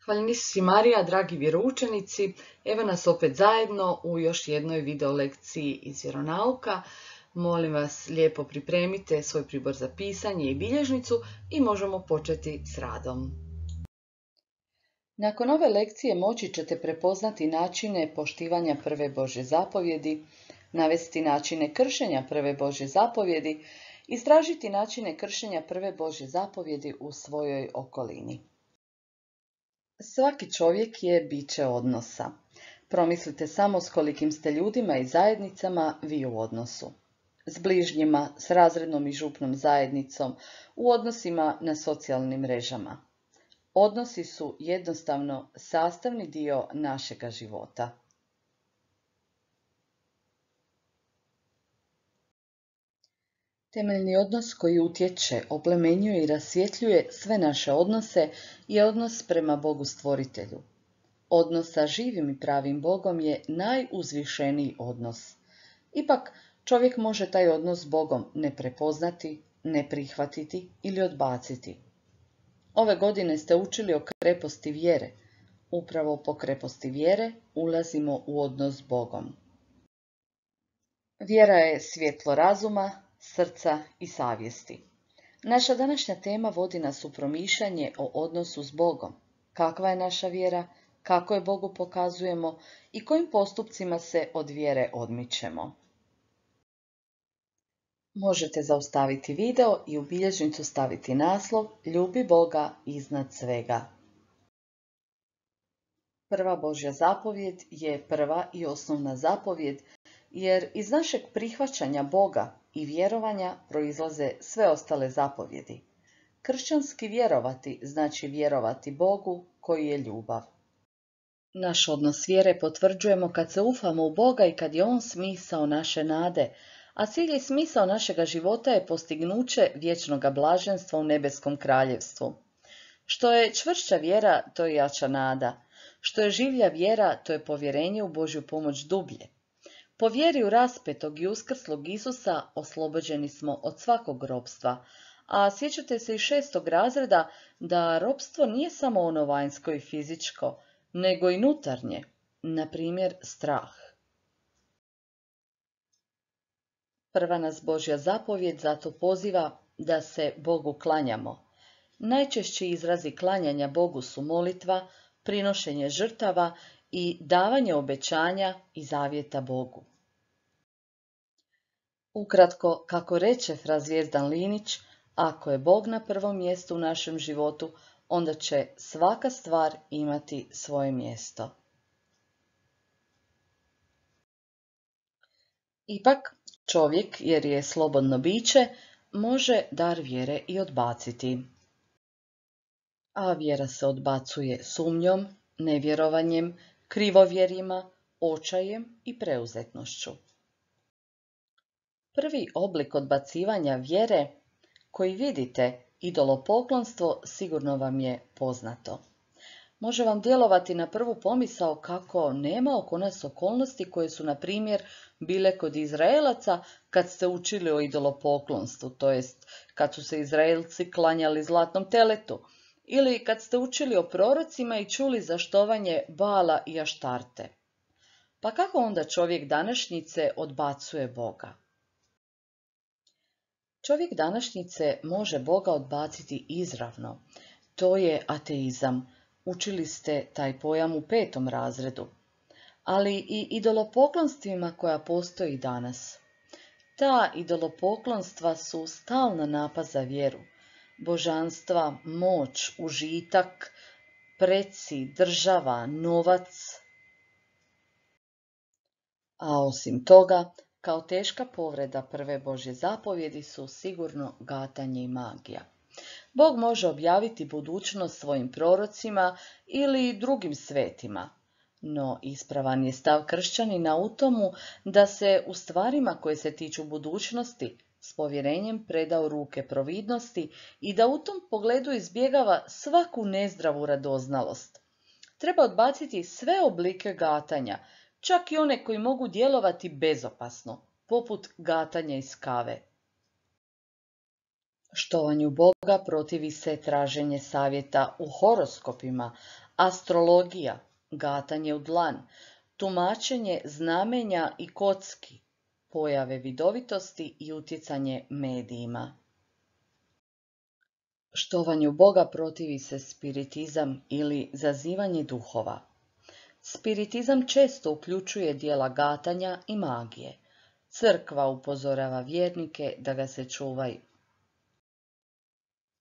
Hvaljeni Marija, dragi vjeroučenici, evo nas opet zajedno u još jednoj video lekciji iz vjeronauka. Molim vas, lijepo pripremite svoj pribor za pisanje i bilježnicu i možemo početi s radom. Nakon ove lekcije moći ćete prepoznati načine poštivanja prve Božje zapovjedi, navesti načine kršenja prve Božje zapovjedi, istražiti načine kršenja prve Božje zapovjedi u svojoj okolini. Svaki čovjek je biće odnosa. Promislite samo s kolikim ste ljudima i zajednicama vi u odnosu. S bližnjima, s razrednom i župnom zajednicom, u odnosima na socijalnim mrežama. Odnosi su jednostavno sastavni dio našega života. Temeljni odnos koji utječe, oplemenjuje i rasvjetljuje sve naše odnose je odnos prema Bogu Stvoritelju. Odnos sa živim i pravim Bogom je najuzvišeniji odnos. Ipak, čovjek može taj odnos s Bogom ne prepoznati, ne prihvatiti ili odbaciti. Ove godine ste učili o kreposti vjere. Upravo po kreposti vjere ulazimo u odnos s Bogom. Vjera je svjetlo razuma, srca i savjesti. Naša današnja tema vodi nas u promišljanje o odnosu s Bogom. Kakva je naša vjera, kako je Bogu pokazujemo i kojim postupcima se od vjere odmičemo. Možete zaustaviti video i u bilježnicu staviti naslov Ljubi Boga iznad svega. Prva Božja zapovjed je prva i osnovna zapovjed, jer iz našeg prihvaćanja Boga i vjerovanja proizlaze sve ostale zapovjedi. Kršćanski vjerovati znači vjerovati Bogu koji je ljubav. Naš odnos vjere potvrđujemo kad se ufamo u Boga i kad je On smisao naše nade, a cilj i smisao našega života je postignuće vječnoga blaženstva u nebeskom kraljevstvu. Što je čvršća vjera, to je jača nada. Što je življa vjera, to je povjerenje u Božju pomoć dublje. Po vjeri u raspetog i uskrslog Isusa oslobođeni smo od svakog ropstva, a sjećate se iz 6. razreda da ropstvo nije samo ono vanjsko i fizičko, nego i unutarnje, na primjer strah. Prva nas Božja zapovjed zato poziva da se Bogu klanjamo. Najčešći izrazi klanjanja Bogu su molitva, prinošenje žrtava i davanje obećanja i zavjeta Bogu. Ukratko, kako reče fra Zvijezdan Linić, ako je Bog na prvom mjestu u našem životu, onda će svaka stvar imati svoje mjesto. Ipak, čovjek, jer je slobodno biće, može dar vjere i odbaciti. A vjera se odbacuje sumnjom, nevjerovanjem, krivovjerima, očajem i preuzetnošću. Prvi oblik odbacivanja vjere koji vidite, idolopoklonstvo, sigurno vam je poznato. Može vam djelovati na prvu pomisao kako nema oko nas okolnosti koje su, na primjer, bile kod Izraelaca kad ste učili o idolopoklonstvu, to jest kad su se Izraelci klanjali zlatnom teletu, ili kad ste učili o prorocima i čuli za štovanje Bala i Aštarte. Pa kako onda čovjek današnjice odbacuje Boga? Čovjek današnjice može Boga odbaciti izravno. To je ateizam. Učili ste taj pojam u 5. razredu. Ali i idolopoklonstvima koja postoji danas. Ta idolopoklonstva su stalna napad za vjeru. Božanstva, moć, užitak, preci, država, novac. A osim toga, kao teška povreda prve Božje zapovjedi su sigurno gatanje i magija. Bog može objaviti budućnost svojim prorocima ili drugim svetima, no ispravan je stav kršćanina u tomu da se u stvarima koje se tiču budućnosti s povjerenjem preda u ruke providnosti i da u tom pogledu izbjegava svaku nezdravu radoznalost. Treba odbaciti sve oblike gatanja, čak i one koji mogu djelovati bezopasno, poput gatanja iz kave. Štovanju Boga protivi se traženje savjeta u horoskopima, astrologija, gatanje u dlan, tumačenje znamenja i kocki, pojave vidovitosti i utjecanje medijima. Štovanju Boga protivi se spiritizam ili zazivanje duhova. Spiritizam često uključuje djela gatanja i magije. Crkva upozorava vjernike da ga se čuvaju.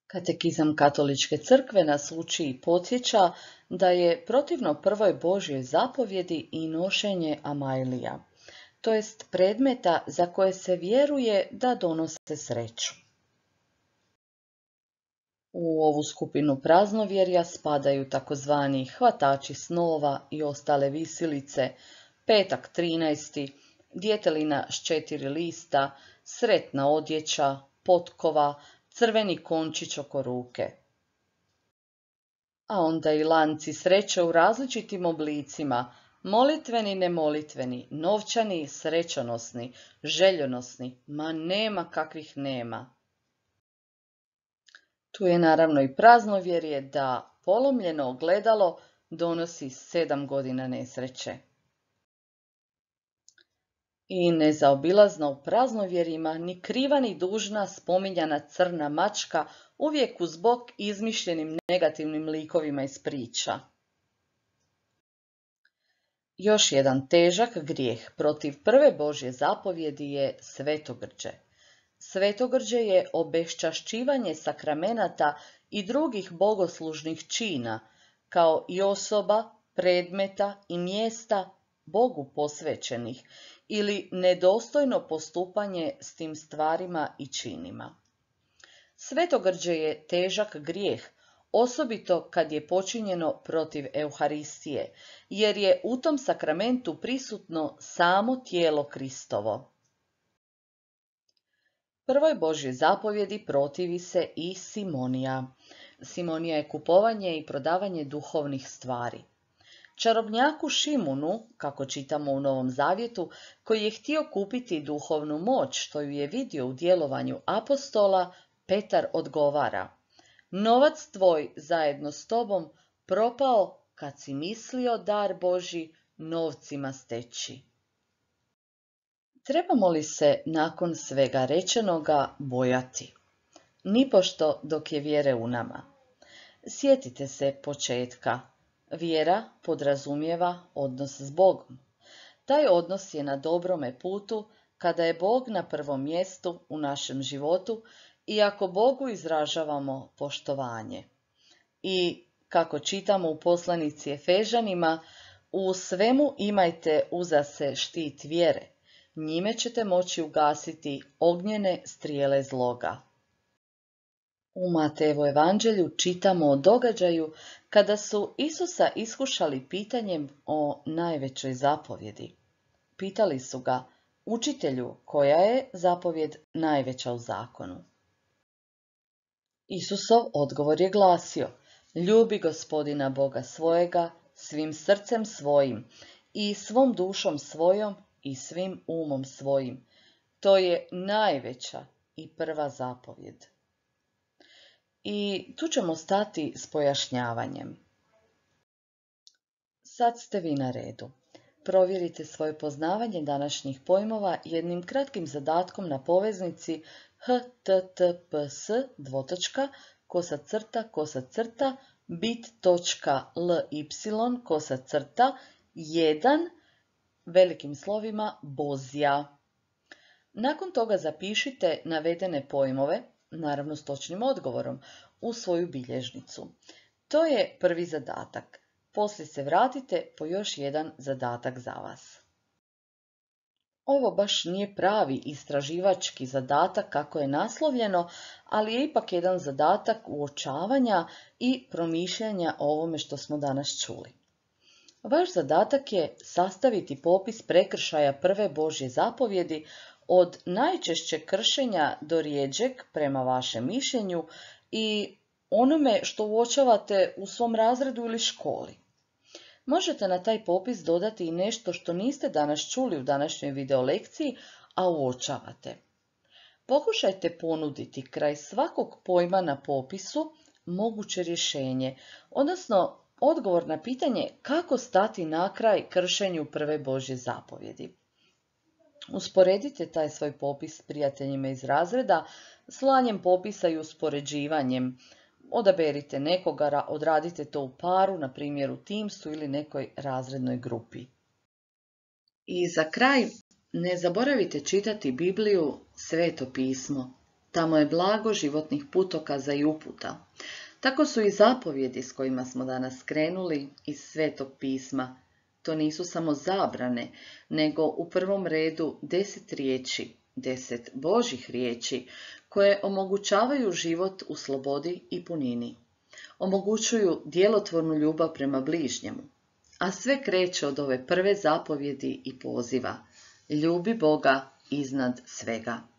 Katekizam Katoličke crkve nas uči i podsjeća da je protivno prvoj Božjoj zapovjedi i nošenje amajlija, to jest predmeta za koje se vjeruje da donose sreću. U ovu skupinu praznovjerja spadaju takozvani hvatači snova i ostale visilice, petak 13., djetelina s 4 lista, sretna odjeća, potkova, crveni končić oko ruke. A onda i lanci sreće u različitim oblicima, molitveni, nemolitveni, novčani, srećonosni, željonosni, ma nema kakvih nema. Tu je naravno i praznovjerje da polomljeno ogledalo donosi 7 godina nesreće. I nezaobilazna u praznovjerjima ni kriva ni dužna spominjana crna mačka uvijek uz bok izmišljenim negativnim likovima iz priča. Još jedan težak grijeh protiv prve Božje zapovjedi je svetogrđe. Svetogrđe je obeščašćivanje sakramenata i drugih bogoslužnih čina, kao i osoba, predmeta i mjesta Bogu posvećenih ili nedostojno postupanje s tim stvarima i činima. Svetogrđe je težak grijeh, osobito kad je počinjeno protiv Euharistije, jer je u tom sakramentu prisutno samo tijelo Kristovo. Prvoj Božjoj zapovjedi protivi se i simonija. Simonija je kupovanje i prodavanje duhovnih stvari. Čarobnjaku Šimunu, kako čitamo u Novom Zavjetu, koji je htio kupiti duhovnu moć što ju je vidio u djelovanju apostola, Petar odgovara: novac tvoj zajedno s tobom propao kad si mislio dar Božji novcima steći. Trebamo li se nakon svega rečenoga bojati? Nipošto dok je vjere u nama. Sjetite se početka. Vjera podrazumijeva odnos s Bogom. Taj odnos je na dobrome putu kada je Bog na prvom mjestu u našem životu i ako Bogu izražavamo poštovanje. I kako čitamo u poslanici Efežanima, u svemu imajte uza se štit vjere. Njime ćete moći ugasiti ognjene strijele zloga. U Matejevu evanđelju čitamo o događaju kada su Isusa iskušali pitanjem o najvećoj zapovjedi. Pitali su ga: učitelju, koja je zapovjed najveća u zakonu? Isusov odgovor je glasio: ljubi Gospodina Boga svojega svim srcem svojim i svom dušom svojom i svim umom svojim. To je najveća i prva zapovjed. I tu ćemo stati s pojašnjavanjem. Sad ste vi na redu. Provjerite svoje poznavanje današnjih pojmova jednim kratkim zadatkom na poveznici https://bit.ly/1 velikim slovima Bozja. Nakon toga zapišite navedene pojmove, naravno s točnim odgovorom, u svoju bilježnicu. To je prvi zadatak. Poslije se vratite po još jedan zadatak za vas. Ovo baš nije pravi istraživački zadatak kako je naslovljeno, ali je ipak jedan zadatak uočavanja i promišljanja o ovome što smo danas čuli. Vaš zadatak je sastaviti popis prekršaja prve Božje zapovjedi od najčešćeg kršenja do rjeđeg prema vašem mišljenju i onome što uočavate u svom razredu ili školi. Možete na taj popis dodati i nešto što niste danas čuli u današnjoj videolekciji, a uočavate. Pokušajte ponuditi kraj svakog pojma na popisu moguće rješenje, odnosno odgovor na pitanje kako stati na kraj kršenju prve Božje zapovjedi. Usporedite taj svoj popis s prijateljima iz razreda, slanjem popisa i uspoređivanjem. Odaberite nekoga, odradite to u paru, na primjer u Teamsu ili nekoj razrednoj grupi. I za kraj, ne zaboravite čitati Bibliju, Sveto pismo. Tamo je blago životnih putokaza i uputa. Tako su i zapovjedi s kojima smo danas krenuli iz Svetog pisma. To nisu samo zabrane, nego u prvom redu 10 riječi, 10 Božjih riječi, koje omogućavaju život u slobodi i punini. Omogućuju djelotvornu ljubav prema bližnjemu. A sve kreće od ove prve zapovjedi i poziva. Ljubi Boga iznad svega.